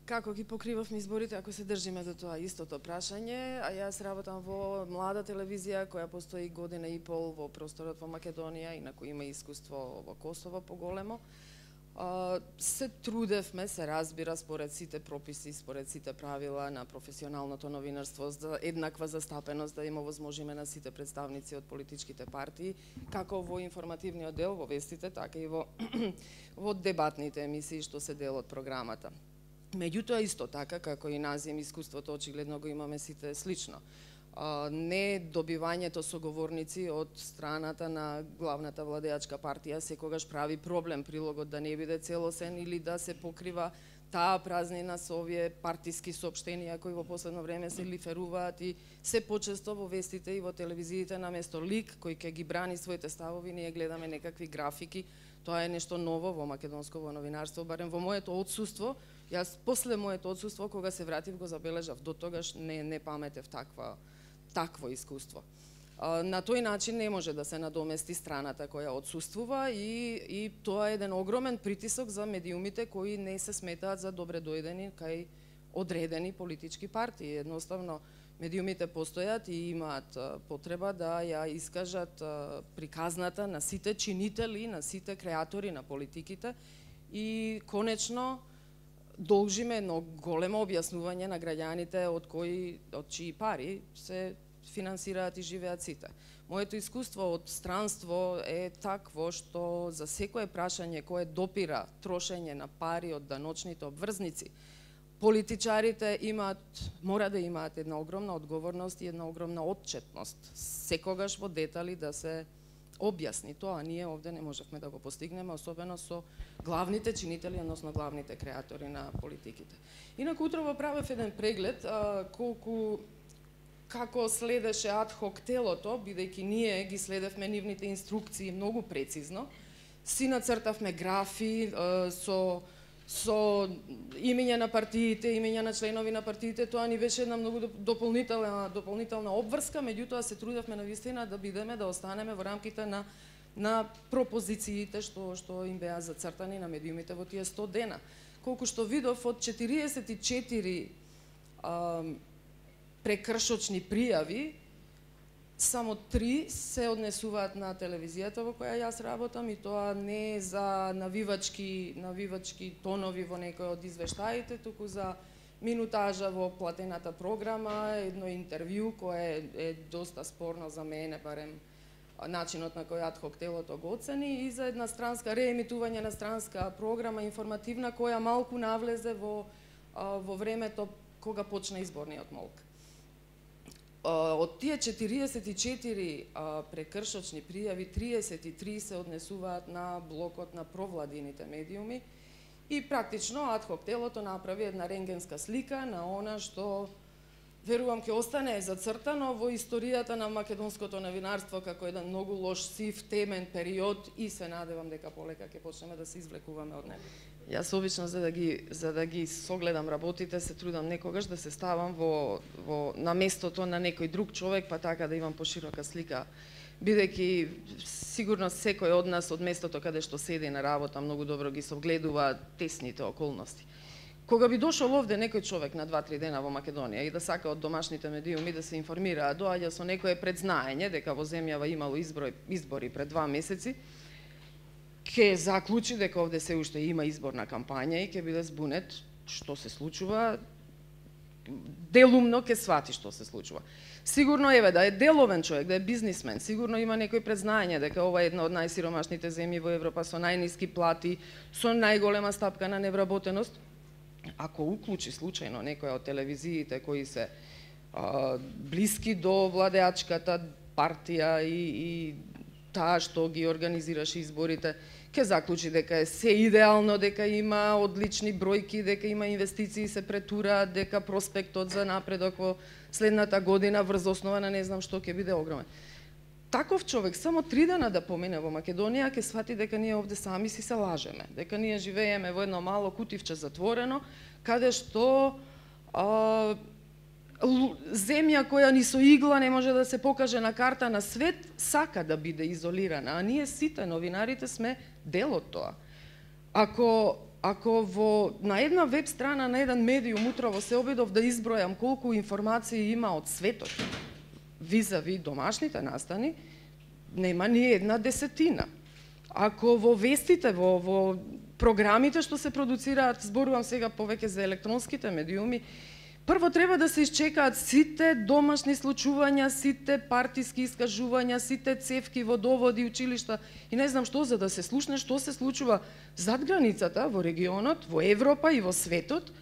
Како ги покривавме изборите, ако се држиме до тоа истото прашање, а јас работам во млада телевизија која постои година и пол во просторот во Македонија, инаку има искуство во Косово поголемо. Се трудевме, се разбира, според сите прописи, според сите правила на професионалното новинарство за еднаква застапеност да им овозможиме на сите представници од политичките партии, како во информативниот дел, во вестите, така и во дебатните емисии што се дел од програмата. Меѓутоа, исто така, како и нас им искуството, очигледно го имаме сите слично. Не добивањето соговорници од страната на главната владеачка партија секогаш прави проблем прилогот да не биде целосен или да се покрива таа празнина со овие партиски соопштенија кои во последно време се лиферуваат и се почесто во вестите и во телевизиите наместо лик кој ќе ги брани своите ставови, ние гледаме некакви графики. Тоа е нешто ново во македонско новинарство, барем во моето отсуство. Јас после моето отсуство, кога се вратив, го забележав. До тогаш не паметев такво искуство. На тој начин не може да се надомести страната која отсуствува и тоа е еден огромен притисок за медиумите кои не се сметаат за добре дојдени кај одредени политички партии. Едноставно, медиумите постојат и имаат потреба да ја искажат приказната на сите чинители, на сите креатори на политиките и конечно должиме едно големо објаснување на граѓаните од чии пари се финансираат и живеат сите. Моето искуство од странство е такво што за секое прашање кое допира трошење на пари од даночните обврзници, политичарите мора да имаат една огромна одговорност и една огромна отчетност. Секогаш во детали да се објасни тоа. Ние овде не можевме да го постигнеме, особено со главните чинители, односно главните креатори на политиките. Инаку утрово правев еден преглед како следеше адхок телото, бидејќи ние ги следевме нивните инструкции многу прецизно. Си нацртавме графи со имења на партиите, имења на членови на партиите, тоа ни беше една многу дополнителна обврска, меѓутоа се трудевме навистина да бидеме, да останеме во рамките на пропозициите што им беа зацртани на медиумите во тие 100 дена. Колку што видов, од 44 прекршочни пријави, само 3 се однесуваат на телевизијата во која јас работам и тоа не за навивачки тонови во некој од извештаите, туку за минутажа во платената програма, едно интервју кое е доста спорно за мене, барем начинот на кој адхок телото го оцени, и за една странска реемитување на странска програма информативна која малку навлезе во времето кога почна изборниот молк. Од тие 44 прекршочни пријави, 33 се однесуваат на блокот на провладините медиуми и практично адхок телото направи една рентгенска слика на она што верувам ќе остане зацртано во историјата на македонското новинарство како еден многу лош, сив, темен период и се надевам дека полека ќе почнеме да се извлекуваме од него. Јас обично за да ги согледам работите се трудам некогаш да се ставам на местото на некој друг човек, па така да имам поширока слика, бидејќи сигурно секој од нас од местото каде што седи на работа многу добро ги согледува тесните околности. Кога би дошол овде некој човек на 2-3 дена во Македонија и да сака од домашните медиуми да се информира, доаѓа со некое предзнаење дека во земјава имало избори пред 2 месеци, ќе заклучи дека овде се уште има изборна кампања и ќе биде збунет што се случува, делумно ќе свати што се случува. Сигурно да е деловен човек, да е бизнисмен, сигурно има некој предзнаење дека ова е една од најсиромашните земји во Европа со најниски плати, со најголема стапка на невработеност. Ако уклучи случајно некоја од телевизиите кои се блиски до владеачката партија и таа што ги организираше изборите, ќе заклучи дека е се идеално, дека има одлични бројки, дека има инвестиции се претураат, дека проспектот за напредок во следната година врз основа на не знам што ќе биде огромен. Таков човек само 3 дена да помине во Македонија ќе свати дека ние овде сами си се лажеме, дека ние живееме во едно мало кутивче затворено, каде што земја која ни со игла не може да се покаже на карта на свет, сака да биде изолирана, а ние сите новинарите сме дел од тоа. Ако Ако на една веб страна на еден медиум утрово се обидов да избројам колку информации има од светот визави домашните настани, нема ни една десетина. Ако во вестите, во програмите што се продуцираат, зборувам сега повеќе за електронските медиуми, прво треба да се исчекаат сите домашни случувања, сите партиски искажувања, сите цевки, водоводи, училишта и не знам што, за да се слушне што се случува зад границата, во регионот, во Европа и во светот,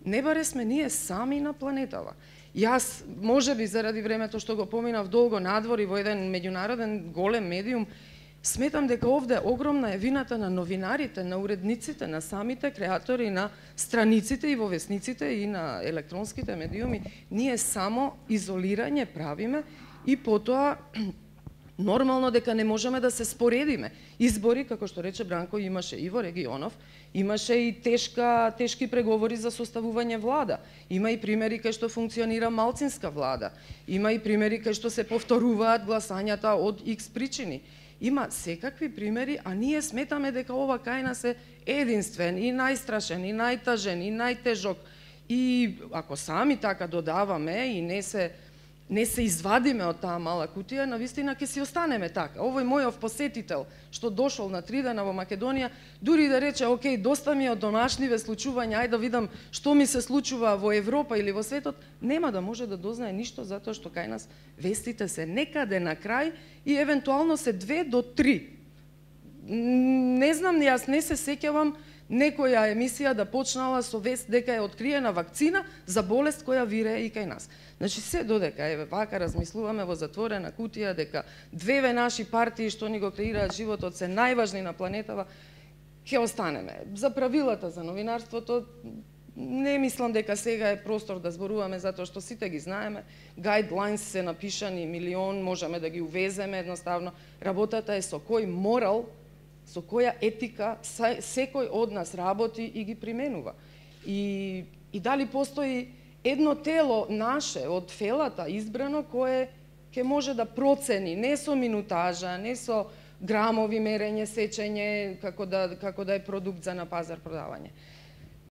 не баре сме ние сами на планетава. Јас, можеби заради времето што го поминав долго надвор и во еден меѓународен голем медиум, сметам дека овде огромна е вината на новинарите, на уредниците, на самите креатори, на страниците и во весниците и на електронските медиуми. Ние само изолирање правиме и потоа нормално дека не можеме да се споредиме. Избори, како што рече Бранко, имаше и во регионов, имаше и тешки преговори за составување влада. Има и примери кај што функционира малцинска влада. Има и примери кај што се повторуваат гласањата од X причини. Има секакви примери, а ние сметаме дека ова кај нас е единствен и најстрашен, и најтажен, и најтежок. И ако сами така додаваме и не се извадиме од таа мала кутија, навистина ќе си останеме така. Овој мојов посетител што дошол на 3 дена во Македонија, дури да рече, окей, доста ми е од домашниве случувања, ајде да видам што ми се случува во Европа или во светот, нема да може да дознае ништо, затоа што кај нас вестите се некаде на крај и евентуално се 2 до 3. Не знам, јас не се сеќавам некоја емисија да почнала со вест дека е откриена вакцина за болест која вирее и кај нас. Значи, се додека еве вака размислуваме во затворена кутија дека две наши партии што ни го креираат животот се најважни на планетава, ќе останеме. За правилата за новинарството не мислам дека сега е простор да зборуваме затоа што сите ги знаеме. Guidelines се напишани милион, можеме да ги увеземе едноставно. Работата е со кој морал, со која етика секој од нас работи и ги применува. И дали постои едно тело наше од фелата избрано кое ќе може да процени не со минутажа, не со грамови мерење, сечење како да е продукт за на пазар продавање.